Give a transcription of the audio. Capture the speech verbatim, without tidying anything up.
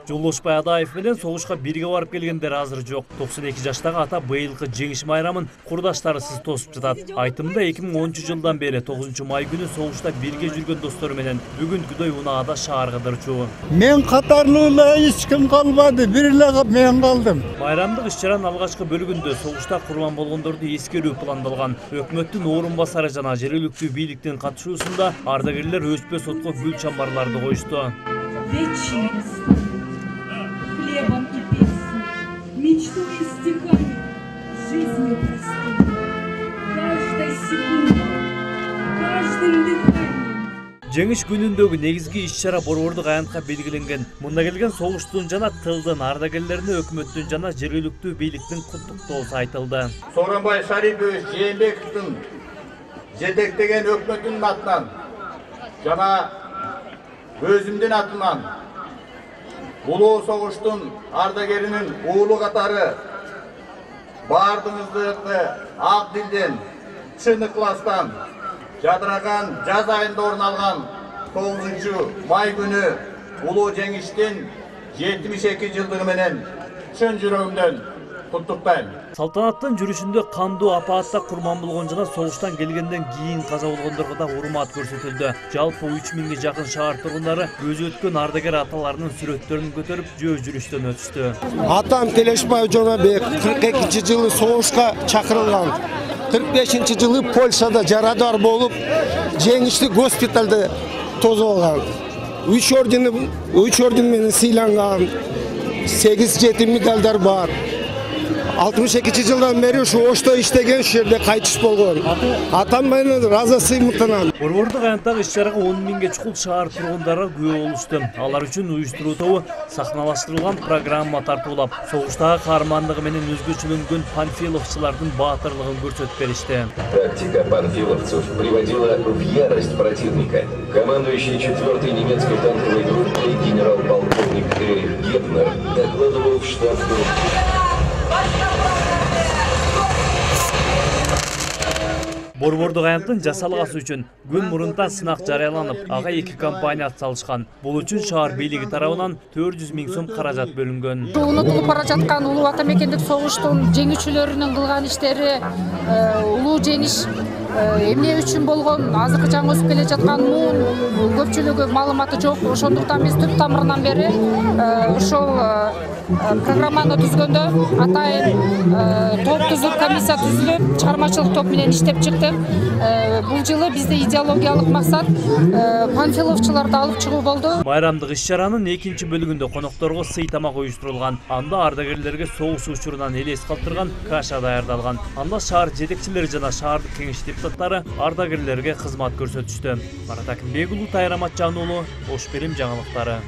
Жолдошбай Адаев менен согушка бирге барып келгендер азыр жок. токсон эки жаштагы ата быйылкы жеңиш майрамын курдаштарысыз тосуп жатат. Айтымында эки миң онунчу жылдан бери тогузунчу май күнү согушта бирге жүргөн достору менен бүгүн күдөй унаада шаарга кыдырчу. Мен катарлуу эле эч ким калбады, бир эле мен калдым. Майрамдык иш-чаранын алгачкы бөлүгүндө согушта курман болгондорду эскерүү пландалган. Өкмөттүн орун басары жана жергиликтүү бийликтин катышуусунда ардагерлер өспө сотко гүл чамбарларды коюшту. Хлебом и песней, мечтой и стихами, жизнью простой, каждой секундой, каждым дыханием. Жеңиш күнүндөгү негизги иш-чара борбордук аянтка белгиленген. Мында келген согуштун жана тылдын ардагерлерине өкмөттүн жана жергиликтүү бийликтин куттуктоосу айтылды. Сооронбай Шарипович Жээнбековдун жетектеген өкмөтүнүн атынан жана өзүмдүн атынан улуу согуштун ардагеринин уулу катары баардыгыңызды ак дилден, чын ыкластан жадыраган жаз айында орун алган тогузунчу май күнү улуу жеңиштин жетимиш эки жылдыгы менен чын жүрөгүмдөн куттуктайм. Салтанаттын жүрүшүндө кандуу апаатта курман болгон жана согуштан келгенден кийин каза болгондорго да урмат көрсөтүлдү. Жалпы үч миңге жакын шаар тургундары өзү өткөн ардагер аталарынын сүрөттөрүн көтөрүп жөө жүрүштөн өтүштү. Атам Телешбаев Жонобек кырк экинчи жылы согушка чакырылган. кырк бешинчи жылы Польшада жарадар болуп, жеңишти госпиталда тосуп алган. үч орден, үч орден менен сыйланган. сегиз жети медалдар бар. алтымыш экинчи жылдан бери ушу Ошто иштеген, ушул жерде кайтыш болгон. Атам менен ыраазы сыймыктанам. Борбордук аянттагы иш-чарага он миңге чукул шаар тургундары күбө болушту. Алар үчүн уюштуруу тобу сахналаштырылган программа тартуулап, согуштагы каармандыгы менен өзгөчөлөнгөн панфиловчулардын баатырлыгын көрсөтүп беришти. Тактика панфиловцев приводила в ярость противника. Командующий четвёртой немецкой танковой группой генерал-полковник Эрих Гепнер докладывал в штаб группы. Борбордук аянттын жасалгасы үчүн күн мурунтан сынак жарыяланып, ага эки компания атсалышкан. Бул үчүн шаар бийлиги тарабынан төрт жүз миң сом каражат бөлүнгөн. Унутулуп бара жаткан улуу ата мекендик согуштун жеңүүчүлөрүнүн кылган иштери, улуу жеңиш эмне үчүн болгон, азыркы жаңы өсүп келе жаткан муун көпчүлүгү маалыматы жок. Ошондуктан биз түп тамырынан бери ошол программаны түзгөндө атайын топ түзүп, комиссия түзүлүп, чыгармачылык топ менен иштеп чыктык. Бул жылы бизде идеологиялык максат панфиловчуларды алып чыгуу болду. Майрамдык иш-чаранын экинчи бөлүгүндө конокторго сый тамак уюштурулган. Анда ардагерлерге согуш учурунан элес калтырган каша даярдалган. Анда шаар жетекчилери жана шаардык кеңеш депутаттары ардагерлерге кызмат көрсөтүштү. Марат Акимбек уулу, Тайыр Аматжан уулу, Ош Берим жаңылыктары.